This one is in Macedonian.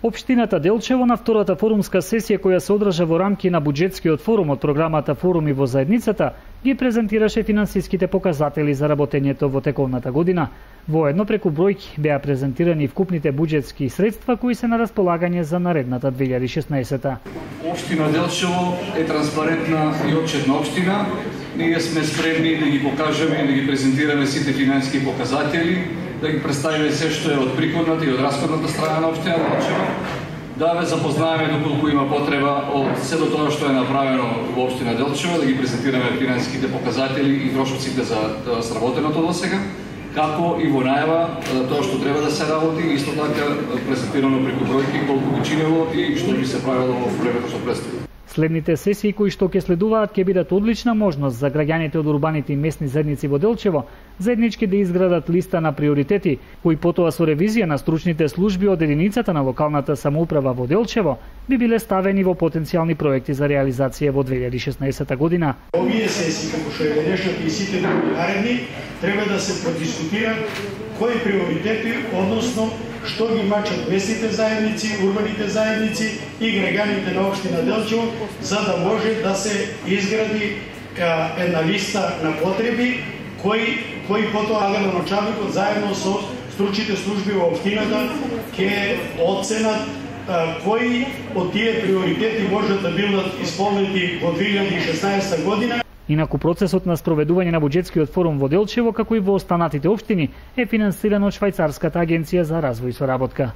Општината Делчево на втората форумска сесија која се одржа во рамки на буџетскиот форум од програмата Форуми во заедницата, ги презентираше финансиските показатели за работењето во тековната година. Воедно преку бројки беа презентирани вкупните буџетски средства кои се на располагање за наредната 2016. Општина Делчево е транспарентна и отчетна општина. Ние сме спремни да ги покажеме и да ги презентираме сите финансиски показатели, да ги представиме се што е од приходната и од расходната страна на општина Делчево, да ве запознаеме доколку има потреба од се до тоа што е направено во општина Делчево, да ги презентираме финансиските показатели и трошоците за сработеното досега, како и во најава тоа што треба да се работи, исто така презентирано преку бројки колку би чинело и што би се правило во времето што предстои. Следните сесии кои што ќе следуваат ќе бидат одлична можност за граѓаните од урбаните и местни заедници во Делчево заеднички да изградат листа на приоритети, кои потоа со ревизија на стручните служби од единицата на локалната самоуправа во Делчево би биле ставени во потенцијални проекти за реализација во 2016 година. Овие сесии, како што е денешната и сите други наредни, треба да се продискутираат кои приоритети, односно што ги мачат местните заедници, урбаните заедници и граѓаните на општина Делчево, за да може да се изгради една листа на потреби кои потоа градоначалникот заедно со стручните служби во општината ќе оценат кои од тие приоритети можат да бидат исполнети во 2016 година. Инаку процесот на спроведување на буџетскиот форум во Делчево, како и во останатите општини, е финансиран од Швајцарската агенција за развој и соработка.